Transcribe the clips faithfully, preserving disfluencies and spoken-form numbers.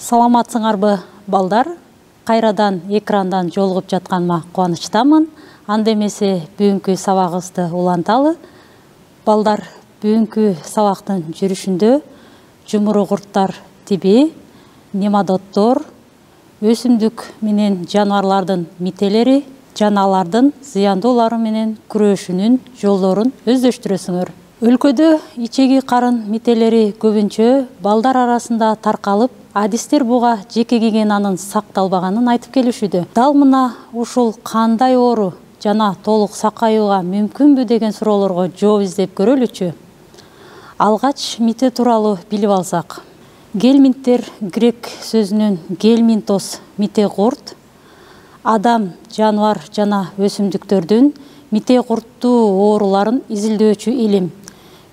Саламатсыңарбы балдар? Кайрадан экрандан жолугуп жатканыма кубанычтамын. Анда эмесе бүгүнкү сабагыбызды уланталы. Балдар, бүгүнкү сабактын жүрүшүндө жумуру курттар тиби, нематоддор, өсүмдүк менен жаныбарлардын мителери жана алардын зыяндуулары менен күрөшүүнүн жолдорун өздөштүрөсүңөр. Өлкөдө ичеги карын мителери көбүнчө балдар арасында таркалып, адистер буга жеке гигиенанын сакталбаганын айтып келишүүдө. Дал мына ушул кандай оору жана толук сакаюуга мүмкүнбү деген суроолорго жооп издеп көрөлүчү. Алгач мите тууралуу билип алсак. Гельминттер грек сөзүнөн гельминтос мите курт, адам, жаныбар жана өсүмдүктөрдүн мите курттуу ооруларын изилдөөчү илим.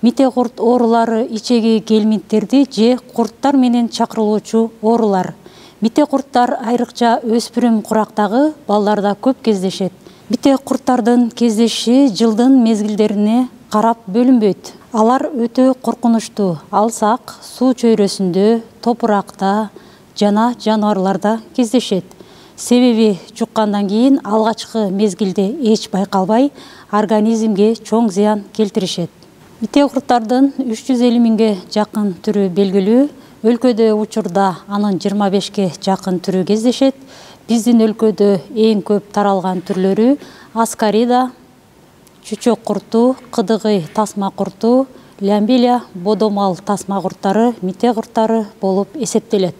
Мите курт оорулары ичеги гельминттерди же курттар менен чакырылуучу оорулар. Мите курттар айрыкча өспүрүм курактагы балдарда көп кездешет. Мите курттардын кездешиши жылдын мезгилдерине карап бөлүнбөйт. Алар өтө коркунучтуу, алсак, суу чөйрөсүндө, топуракта жана жаныбарларда кездешет. Себеби жуккандан кийин алгачкы мезгилде эч байкалбай, организмге чоң зыян келтиришет. Мите курттардын үч жүз элүү миңге жакын түрү белгилүү. Өлкөдө учурда анын жыйырма бешке жакын түрү кездешет. Биздин өлкөдө эң көп таралган түрлөрү аскарида, чүчөк курту, кыдыгый тасма курту, лямбилия, бодомал тасма курттары, мите курттары болуп эсептелет.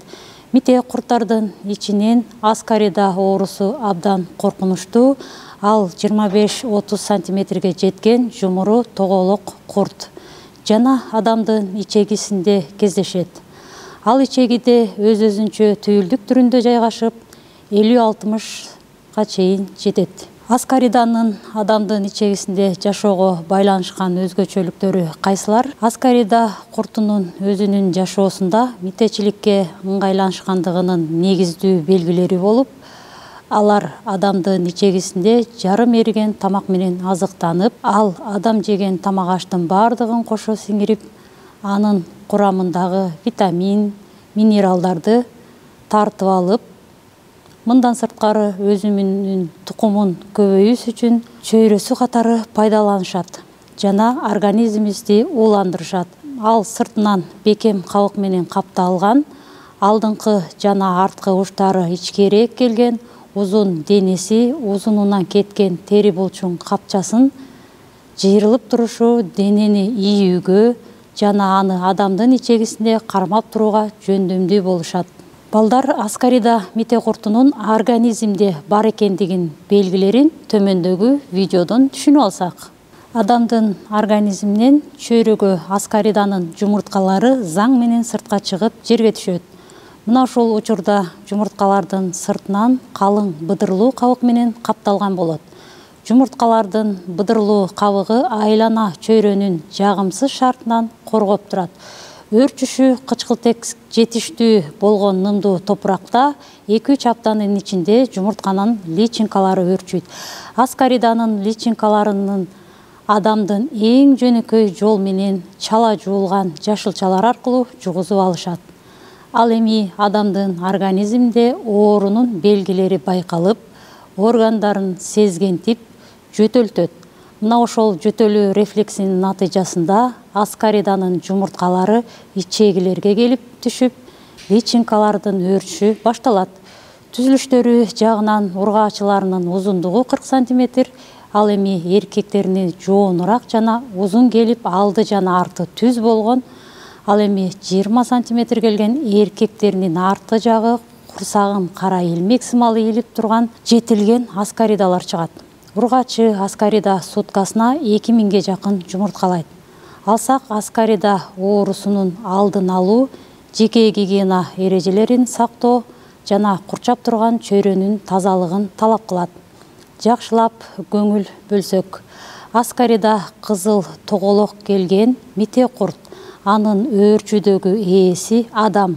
Мите курттардын ичинен аскарида оорусу абдан коркунучтуу. Ал жыйырма беш отуз сантиметрге жеткен жумуру тоголок курт жана адамдын ичегисинде кездешет. Ал ичегиде өз-өзүнчө түйүлдүк түрүндө жайгашып, элүү алтымышка чейин жетет. Аскариданын адамдын ичегисинде жашоого байланышкан өзгөчөлүктөрү кайсылар? Аскарида куртунун өзүнүн жашоосунда митечиликке ыңгайланышкандыгынын негиздүү белгилери болуп, алар адамдын ичегисинде жарым эриген тамак менен азыктанып, ал адам жеген тамак аштын бардыгын кошо сиңирип, анын курамындагы витамин, минералдарды тартып алып, мындан сырткары өзүмүнүн тукумун көбөйүүсү үчүн чөйрөсү катары пайдаланышат жана организмибизди ууландырышат. Ал сыртынан бекем кабык менен капталган, алдыңкы жана арткы учтары ичкерээк келген, узун денеси, узунунан кеткен тери булчуң капчасын жыйрылып турушу денени ийүүгө жана аны адамдын ичегисинде кармап турууга жөндөмдүү болушат. Балдар, аскарида мите куртунун организмде бар экендигин белгилерин төмөндөгү видеодон түшүнүп алсак. Адамдын организминен чөйрөгө аскариданын жумурткалары заң менен сыртка чыгып жерге түшөт. Мына ушул учурда жумурткалардын сыртынан калың быдырлуу кабык менен капталган болот. Жумурткалардын быдырлуу кабыгы айлана чөйрөнүн жагымсыз шартынан коргоп турат. Өөрчүшү кычкылтек жетиштүү болгон нымдуу топуракта эки үч аптанын ичинде жумуртканын личинкалары өөрчүйт. Аскариданын личинкаларынын адамдын эң жөнөкөй жол менен чала жуулган жашылчалар аркылуу жугузуп алышат. Ал эми адамдын организминде оорунун белгилери байкалып, органдарын сезгентип, жөтөлтөт. Мына ошол жөтөлүү рефлексинин натыйжасында аскариданын жумурткалары ичегилерге келип түшүп, личинкалардын өөрчүшү башталат. Түзүлүштөрү жагынан ургаачыларынын узундугу кырк сантиметр, ал эми эркектерине жоонураак жана узун келип, алды жана арты түз болгон, ал эми жыйырма сантиметр келген эркектеринин арты жагы курсагын кара илмек сымалы ийилип турган жетилген аскаридалар чыгат. Ургаачы аскарида суткасына эки миңге жакын жумурткалайт. Алсак, аскарида оорусунун алдын алуу, жеке гигиена эрежелерин сактоо жана курчап турган чөйрөнүн тазалыгын талап кылат. Жакшылап көңүл бөлсөк, аскарида кызыл тоголок келген мите курт. Анын өөрчүүдөгү ээси адам.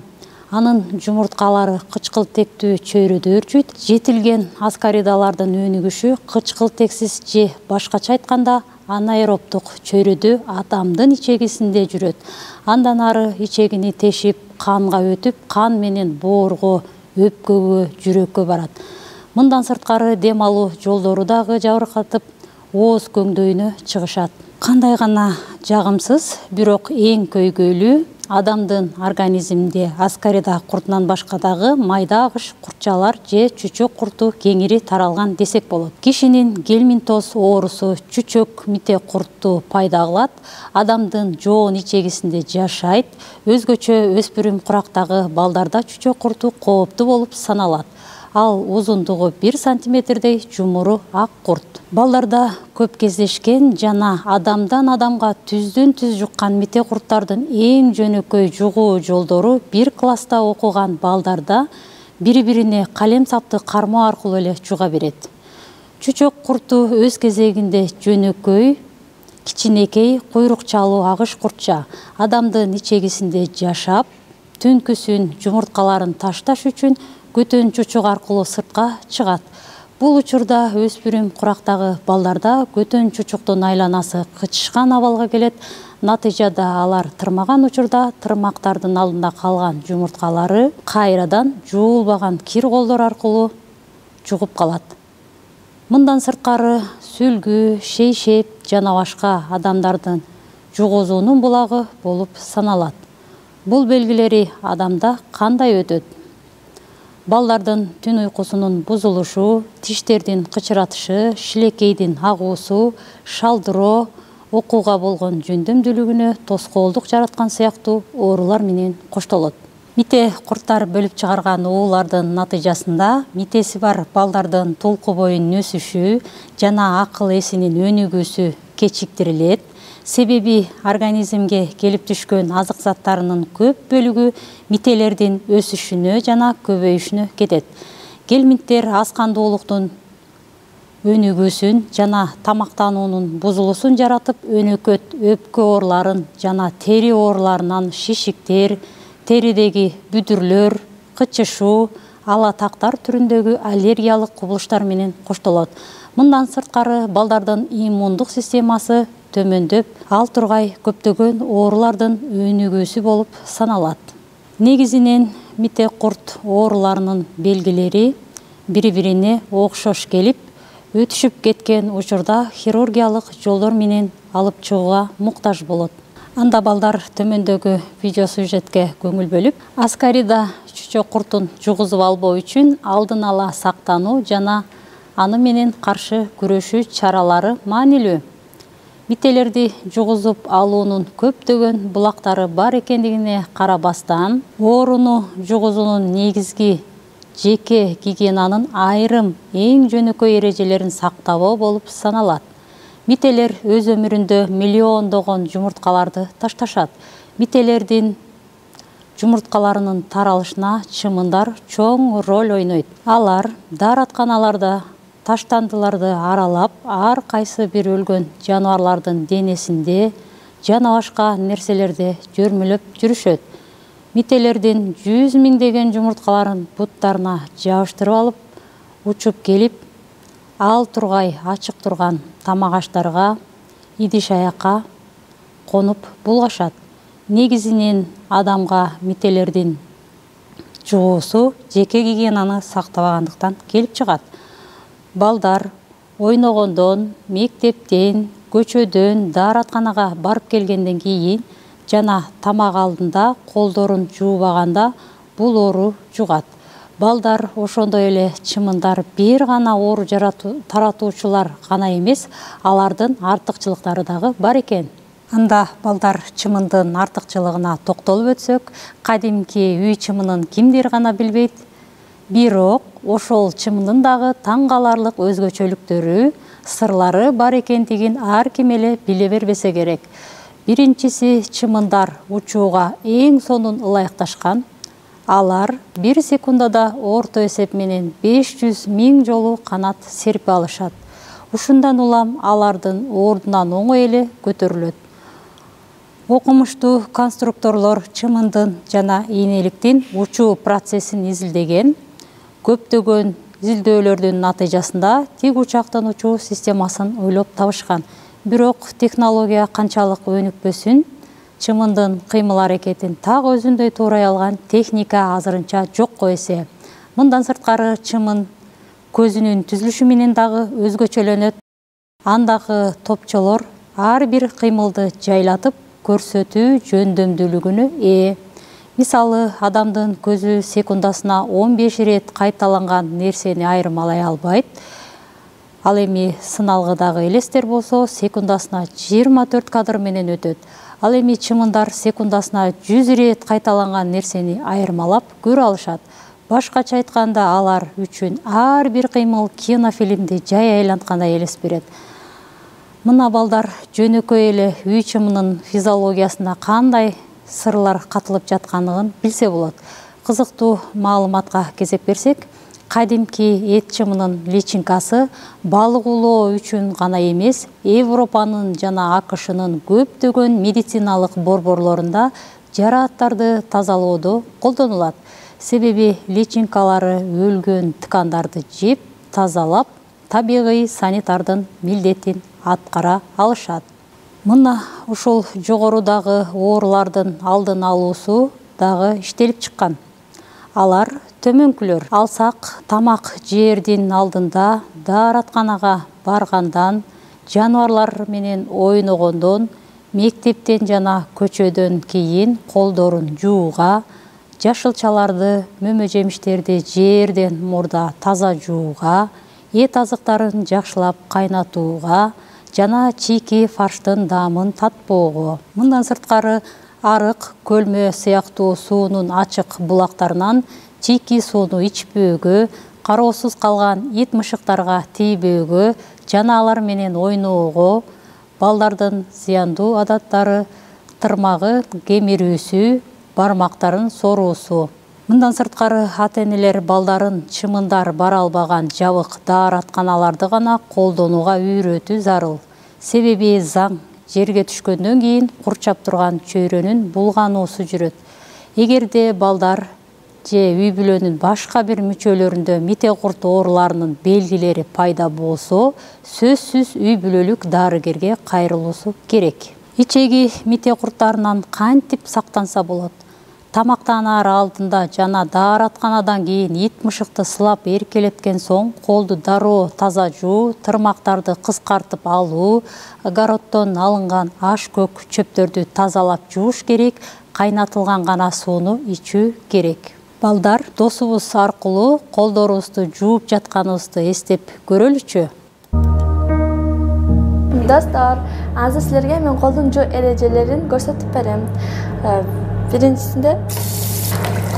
Анын жумурткалары кычкылтектүү чөйрөдө өөрчүйт. Жетилген аскаридалардын өнүгүшү кычкылтексиз же башкача айтканда анаэробдук чөйрөдө адамдын ичегисинде жүрөт. Андан ары ичегини тешип, канга өтүп, кан менен боорго, өпкөгө, жүрөккө барат. Мындан сырткары дем алуу жолдору дагы жабыркатып, ооз көңдөйүнө чыгышат. Кандай гана жагымсыз, бирок эң көйгөйлүү адамдын организминде аскарида куртунан башка дагы майда агыш куртчалар же чүчөк курту кеңири таралган десек болот. Кишинин гельминтоз оорусу чүчөк мите курту пайда кылат, адамдын жоон ичегисинде жашайт. Өзгөчө өспүрүм курактагы балдарда чүчөк курту кооптуу болуп саналат. Ал узундугу бир сантиметрдей жумуру ак курт. Балдарда көп кездешкен жана адамдан адамга түздөн түз жуккан мите курттардын эң жөнөкөй жугуу жолдору бир класста окуган балдарда бири-бирине калем сапты кармоо аркылуу эле жуга берет. Чүчөк курту өз кезегинде жөнөкөй, кичинекей, куйрукчалуу агыш куртча адамдын ичегисинде жашап, түнкүсүн жумурткаларын ташташ үчүн көтөн чучук аркылуу сыртка чыгат. Бул учурда өспүрүм курактагы балдарда көтөн чучуктун айланасы кычышкан абалга келет. Натыйжада алар тырмаган учурда тырмактардын алдында калган жумурткалары кайрадан жуулбаган кир колдор аркылуу жугуп калат. Мындан сырткары сүлгү, шейшеп жана башка адамдардын жугузуунун булагы болуп саналат. Бул белгилери адамда кандай өтөт? Балдардын түн уйкусунун бузулушу, тиштердин кычыратышы, шилекейдин агуусу, шалдыроо, окууга болгон жөндөмдүүлүгүнө тоскоолдук жараткан сыяктуу оорулар менен коштолот. Мите курттар бөлүп чыгарган оолардын натыйжасында митеси бар балдардын толку боюнун өсүшү жана акыл эсинин өнүгүүсү кечиктирилет. Себеби организмге келип түшкөн азык заттарынын көп бөлүгү мителердин өсүшүнө жана көбөйүшүнө кетет. Гельминттер аз кандуулуктун өнүгүүсүн жана тамактануунун бузулуусун жаратып, өнөкөт өпкө ооруларын жана тери ооруларынан шишиктер, теридеги бүдүрлөр, кычышуу, ала тактар түрүндөгү аллергиялык кубулуштар менен коштолот. Мындан сырткары балдардын иммундук системасы төмөндөп, ал тургай көптөгөн оорулардын өнүгүүсү болуп саналат. Негизинен мите курт ооруларынын белгилери бири-бирине окшош келип, өтүшүп кеткен учурда хирургиялык жолдор менен алып чыгууга муктаж болот. Анда балдар төмөндөгү видео сюжетке көңүл бөлүп, аскарида чүчөк куртун жугузуп албоо үчүн алдын ала сактануу жана аны менен каршы күрөшүү чаралары маанилүү. Мителерди жугузуп алуунун көптөгөн булактары бар экендигине карабастан, ооруну жугузуунун негизги жеке гигиенанын айрым эң жөнөкөй эрежелерин сактабоо болуп саналат. Мителер өз өмүрүндө миллиондогон жумурткаларды ташташат. Мителердин жумурткаларынын таралышына чымындар чоң роль ойнойт. Алар дааратканаларда таштандыларды аралап, ар кайсы бир өлгөн жаныбарлардын денесинде жана башка нерселерде жөрмөлөп жүрүшөт. Мителердин жүз миңдеген жумурткаларын буттарына жабыштырып алып, учуп келип, ал тургай ачык турган тамак аштарга, идиш аякка конуп булгашат. Негизинен адамга мителердин жугуусу жеке гигиенаны сактабагандыктан келип чыгат. Балдар ойногондон, мектептен, көчөдөн, дааратканага барып келгенден кийин жана тамак алдында колдорун жуубаганда бул оору жугат. Балдар ошондой эле чымындар бир гана оору таратуучулар гана эмес, алардын артыкчылыктары дагы бар экен. Анда балдар чымындын артыкчылыгына токтолуп өтсөк, кадимки үй чымынын кимдир гана билбейт. Бирок ошол чымындын дагы таң каларлык өзгөчөлүктөрү, сырлары бар экендигин ар ким эле биле бербесе керек. Биринчиси, чымындар учууга эң сонун ылайыкташкан. Алар бир секундада орто эсеп менен беш жүз миң жолу канат серпе алышат. Ушундан улам алардын ордунан оңой эле көтөрүлөт. Окумуштуу конструкторлор чымындын жана ийнеликтин учуу процессин изилдеген. Көптөгөн изилдөөлөрдүн натыйжасында тик учактын учуу системасын ойлоп табышкан. Бирок технология канчалык өнүкпөсүн, чымындын кыймыл аракетин так өзүндөй туурай алган техника азырынча жокко эсе. Мындан сырткары чымын көзүнүн түзүлүшү менен дагы өзгөчөлөнөт. Андагы топчолор ар бир кыймылды жайлатып көрсөтүү жөндөмдүүлүгүнө ээ. Мисалы, адамдын көзү секундасына он беш ирет кайталанган нерсени айырмалай албайт. Ал эми сыналгыдагы элестер болсо секундасына жыйырма төрт кадр менен өтөт. Ал эми чымындар секундасына жүз ирет кайталанган нерсени айырмалап көрө алышат. Башкача айтканда, алар үчүн ар бир кыймыл кинофильмди жай айланткандай элес берет. Мына балдар жөнөкөй эле үй чымынын физиологиясына кандай сырлар катылып жатканын билсе болот. Кызыктуу маалыматка кезек берсек, кадимки эт чымынын личинкасы балык улоо үчүн гана эмес, Европанын жана АКШнын көптөгөн медициналык борборлорунда жарааттарды тазалоодо колдонулат. Себеби личинкалары өлгөн ткандарды жеп, тазалап, табигый санитардын милдетин аткара алышат. Мына ушул жогорудагы оорулардын алдын алуусу дагы иштелип чыккан. Алар төмөнкүлөр. Алсак, тамак жээрдин алдында, дааратканага баргандан, жаныбарлар менен ойногондон, мектептен жана көчөдөн кийин колдорун жууга, жашылчаларды, мөмө жемиштерди жээрден мурда таза жууга, эт азыктарын жакшылап кайнатууга жана чийки фарштын даамын татпоого. Мындан сырткары, арык, көлмө сыяктуу суунун ачык булактарынан чийки сууну ичпөөгө, кароосуз калган ит мышыктарга тийбөөгө жана алар менен ойноого, балдардын зыяндуу адаттары, тырмагы кемирүүсү, бармактарын соруусу. Мындан сырткары, ата-энелер балдарын чымындар бара албаган жабык дааратканаларды гана колдонууга үйрөтүү зарыл. Себеби заң жерге түшкөндөн кийин курчап турган чөйрөнүн булгануусу жүрөт. Эгерде балдар же үй бүлөнүн башка бир мүчөлөрүндө мите курт ооруларынын белгилери пайда болсо, сөзсүз үй бүлөлүк дарыгерге кайрылуусу керек. Ичеги мите курттарынан кантип сактанса болот? Тамактанаар алдында жана дааратканадан кийин ит мышыкты сылап эркелеткен соң колду дароо таза жуу, тырмактарды кыскартып алуу, огороддон алынган аш көк чөптөрдү тазалап жууш керек, кайнатылган гана сууну ичүү керек. Балдар, досубуз аркылуу колдорубузду жууп жатканыбызды эстеп көрөлүчү. Достор, азыр силерге мен колдун жуу эрежелерин көрсөтүп берем. Биринчисинде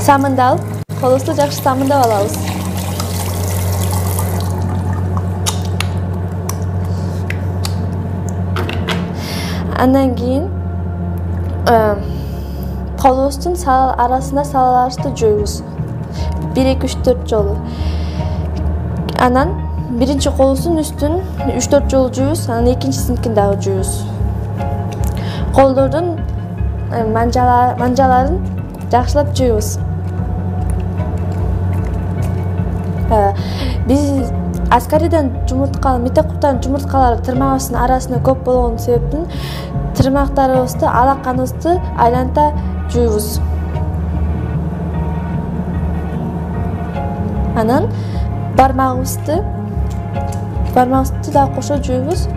самынды алып, колубузду жакшы самындап алабыз. Андан кийин колубуздун арасында салаларыбызды жууйбуз. бир эки үч төрт жолу. Анан биринчи колубуздун үстүн үч төрт жолу жууйбуз, анан экинчисинкин дагы жууйбуз. Колдордун манжаларын жакшылап жууйбуз. Биз аскариден жумуртка, мите курттардын жумурткалары тырмагыбыздын арасында көп болгон себептен тырмактарыбызды, алаканыбызды айланта жууйбуз. Анан бармагыбызды, бармагыбызды да кошо жууйбуз.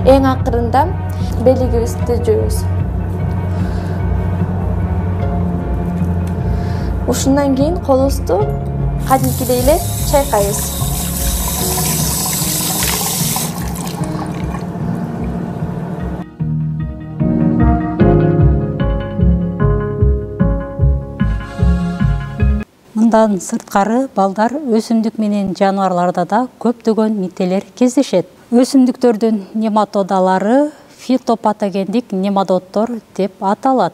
Эң акырында белигибизди жууйбуз. Ушундан кийин колубузду кадимкидей эле чайкайбыз. Мындан сырткары, балдар өсүмдүк менен жаныбарларда да көптөгөн мителер кездешет. Өсүмдүктөрдүн нематодалары фитопатогендик нематоддор деп аталат.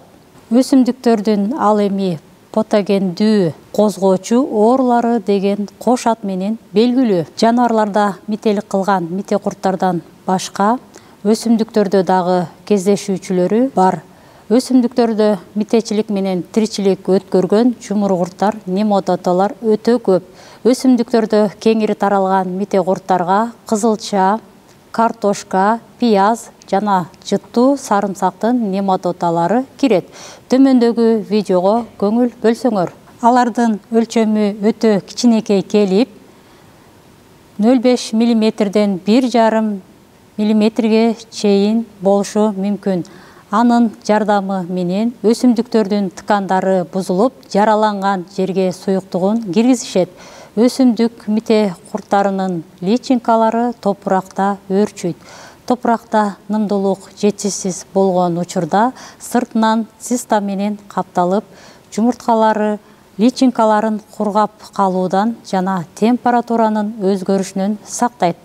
Өсүмдүктөрдүн ал эми патогендүү козгоочу оорулары деген кош ат менен белгилүү. Жаныбарларда мителик кылган мите курттардан башка өсүмдүктөрдө дагы кездешүүчүлөрү бар. Өсүмдүктөрдө митечилик менен тиричилик өткөргөн жумуркурттар, нематоддолор өтө көп. Өсүмдүктөрдө кеңири таралган мите курттарга кызылча, картошка, пияз жана жыттуу сарымсактын нематодалары кирет. Төмөндөгү видеого көңүл бөлсөңөр. Алардын өлчөмү өтө кичинекей келип, нөл беш миллиметрден бир жарым миллиметрге чейин болушу мүмкүн. Анын жардамы менен өсүмдүктөрдүн ткандары бузулуп, жараланган жерге суюктугун киргизишет. Өсүмдүк мите курттарынын личинкалары топуракта өөрчүйт. Топуракта нымдуулук жетишсиз болгон учурда сыртынан циста менен капталып, жумурткалары личинкаларын кургап калуудан жана температуранын өзгөрүшүнөн сактайт.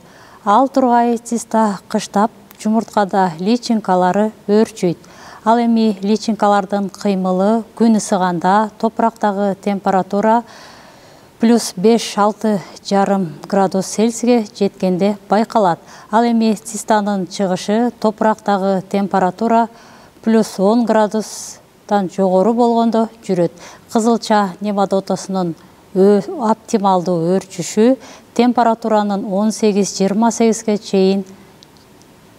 Ал тургай циста кыштап, жумурткада личинкалары өөрчүйт. Ал эми личинкалардын кыймылы күн ысыганда топурактагы температура плюс беш алты жарым градус Цельсийге жеткенде байкалат. Ал эми цистанын чыгышы топурактагы температура плюс он градустан жогору болгондо жүрөт. Кызылча нематодасынын оптималдуу өөрчүшү температуранын он сегиз жыйырма сегизге чейин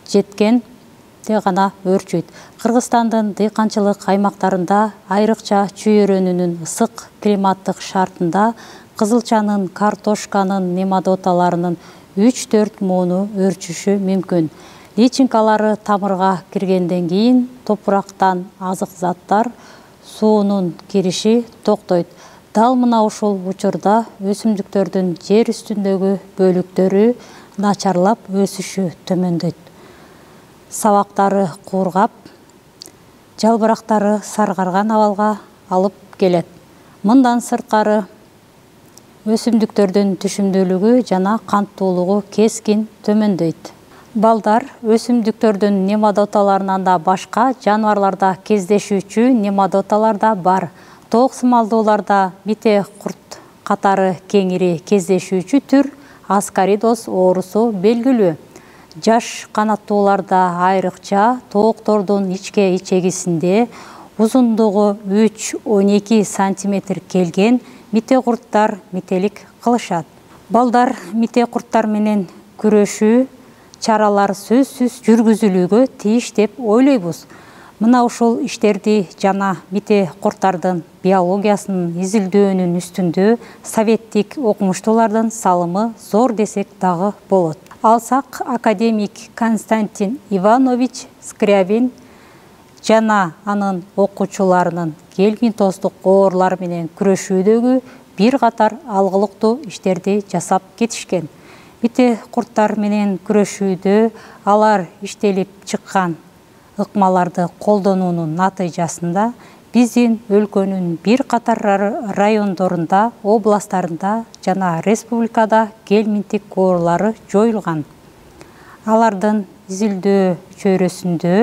жеткенде гана өөрчүйт. Кыргызстандын дыйканчылык аймактарында айрыкча чүйөрөнүнүн ысык климаттык шартында кызылчанын, картошканын нематодаларынын үч төрт мууну өөрчүшү мүмкүн. Личинкалары тамырга киргенден кийин топурактан азык заттар, суунун кириши токтойт. Дал мына ушул учурда өсүмдүктөрдүн жер үстүндөгү бөлүктөрү начарлап өсүшү төмөндөйт. Сабактары куургап, жалбырактары саргарган абалга алып келет. Мындан сырткары өсүмдүктөрдүн түшүмдүүлүгү жана канттуулугу кескин төмөндөйт. Балдар өсүмдүктөрдүн нематодаларынан да башка жаныбарларда кездешүүчү нематодалар да бар. Тооксумалдууларда мите курт катары кеңири кездешүүчү түр аскаридоз оорусу белгилүү. Жаш канаттууларда айрыкча тооктордун ичке ичегисинде узундугу үч он эки сантиметр келген мите курттар мителик кылышат. Балдар мите курттар менен күрөшүү чаралар сөзсүз жүргүзүлүүгө тийиш деп ойлойбуз. Мына ушул иштерди жана мите курттардын биологиясынын изилдөөнүн үстүндө советтик окумуштуулардын салымы зор десек дагы болот. Алсак академик Константин Иванович Скрябин жана анын окуучуларынын гельминтоздук оорлар менен күрөшүүдөгү бир катар алгылыктуу иштерди жасап кетишкен. Мите курттар менен күрөшүүдө алар иштелип чыккан ыкмаларды колдонуунун натыйжасында биздин өлкөнүн бир катар райондорунда, областтарында жана республикада гельминттик оорлары жоюлган. Алардын изилдөө чөйрөсүндө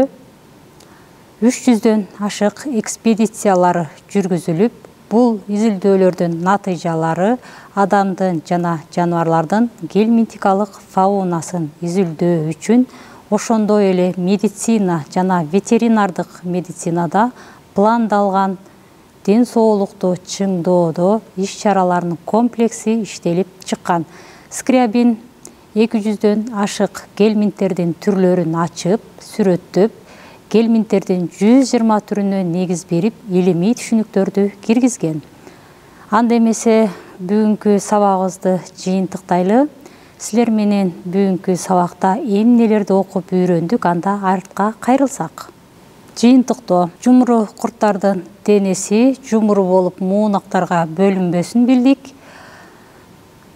үч жүздөн ашык экспедициялар жүргүзүлүп, бул изилдөөлөрдүн натыйжалары адамдын жана жаныбарлардын гельминтикалык фаунасын изилдөө үчүн ошондой эле медицина жана ветеринардык медицинада пландалган ден соолукту чыңдоодо иш-чараларынын комплекси иштелип чыккан. Скрябин эки жүздөн ашык гельминттердин түрлөрүн ачып, сүрөттөп, гельминттердин жүз жыйырма түрүнө негиз берип, илимий түшүнүктөрдү киргизген. Анда эмесе бүгүнкү сабагыбызды жыйынтыктайлы. Силер менен бүгүнкү сабакта эмнелерди окуп үйрөндүк, анда артка кайрылсак. Жыйынтыктоо: жумуру курттардын денеси жумуру болуп муунактарга бөлүнбөсүн билдик.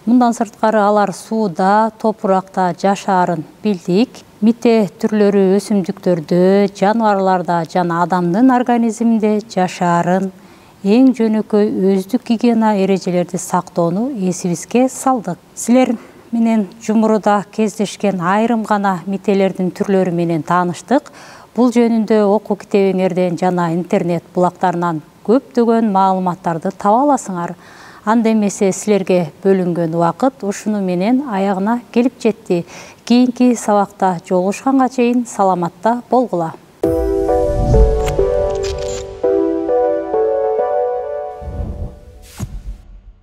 Мындан сырткары алар сууда, топуракта жашаарын билдик. Мите түрлөрү өсүмдүктөрдө, жаныбарларда жана адамдын организминде жашаарын, эң жөнөкөй өздүк гигиена эрежелерди сактоону эсибизге салдык. Силер менен жумуруда кездешкен айрым гана мителердин түрлөрү менен тааныштык. Бул жөнүндө окуу китебиңерден жана интернет булактарынан көптөгөн маалыматтарды таба аласыңар. Анда эмесе силерге бөлүнгөн убакыт ушуну менен аягына келип жетти. Кийинки сабакта жолугушканга чейин саламатта болгула.